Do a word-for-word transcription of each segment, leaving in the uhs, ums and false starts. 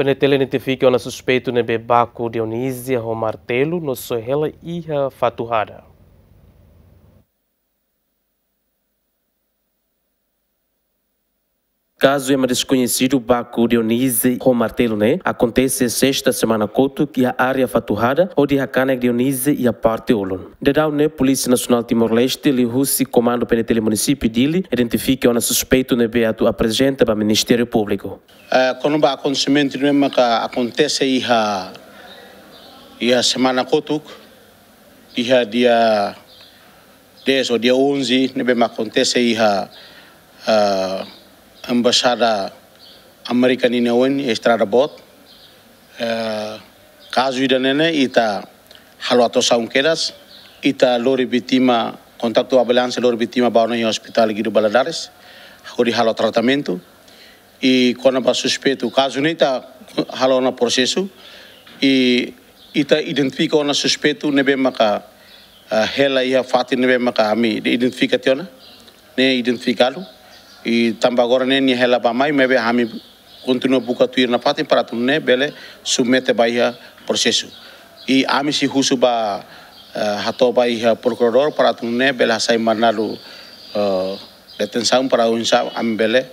PNTL identifika ona suspeitu ne'ebé baku Dionízia ho martelu no soe hela iha fatuhada. Kazu ema deskoñesidu baku Dionízia ho martelu ne'e akontese sesta semana kotuk iha área fatuhada, hodi hakanek Dionízia iha parte ulun. Daudaun ne'e Polísia Nasionál Timor-Leste liuhusi Komandu PNTL Munisípiu Dili identifika ona suspeitu ne'ebé atu aprezenta ba Ministériu Públiku. Eh, kona-ba akontesimentu ne'e maka akontese iha, iha semana kotuk, iha dia dez ou dia onze, ne'ebé mak akontese iha, eh, Embaixada Amérika ninia oin, Estrada Boot. Eh, kazu ida-ne'e ne'e ita halo atuasaun kedas, ita lori vítima, kontaktu ambulánsia lori vítima ba ona iha Hospitál Guido Valadares, hodi halo tratamentu. I kona-ba suspeitu, kazu ne'e ita halo ona prosesu, i ita identifika ona suspeitu ne'ebé maka, ah, hela iha fatin ne'ebé maka ami identifika tiha ona, ne'e identifikadu. I tanba agora ne'e nia hela bá-mai, maibé ami kontinua buka tuir nafatin para atu nune'e bele submete ba iha prosesu. I ami sei husu ba, eh, hato'o ba iha prokuradór para atu nune'e bele hasai mandadu, eh, detensaun para oinsá ami bele,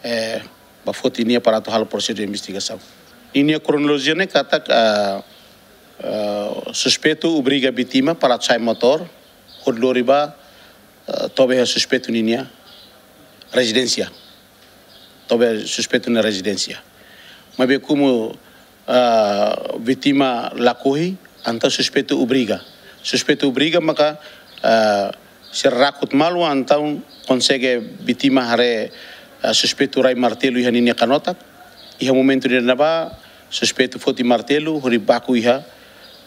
eh, bá foti nia para atu halo prosesu de investigasaun. Ninia kronolojia ne'e katak, eh, eh, suspeitu obriga vítima para atu sa'e motór, hodi lori bá, eh, to'o ba iha suspeitu ninia rezidénsia. To'o ba iha suspeitu nia rezidénsia. Maibé komu, ah, vítima lakohi, entaun suspeitu obriga. Suspeitu obriga maka, ah, sira rakut malu, entaun konsege vítima haree, ah, suspeitu rai martelu iha ninia kanotak. Iha momentu ida-ne'ebá, suspeitu foti martelu, hodi baku iha,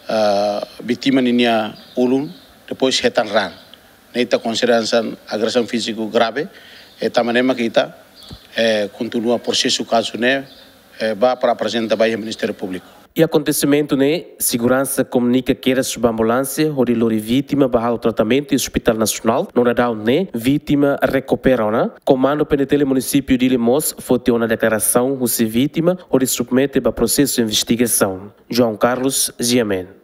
ah, vítima ninia ulun, depois hetan raan. Ne'e ita konsidera hanesan agresaun fíziku grave, eh, tanba ne'e mak ita, eh, kontinua prosesu kazu ne'e, eh, bá para aprezenta ba iha Ministériu Públiku. Iha akontesimentu ne'e, seguransa komunika kedas ba ambulánsia hodi lori vítima bá halo tratamentu iha Hospitál Nasionál, no daudaun ne'e vítima rekupera ona. Komandu PNTL Munisípiu Dili mós foti ona deklarasaun husi vítima hodi submete ba prosesu investigasaun. João Carlos, GMN.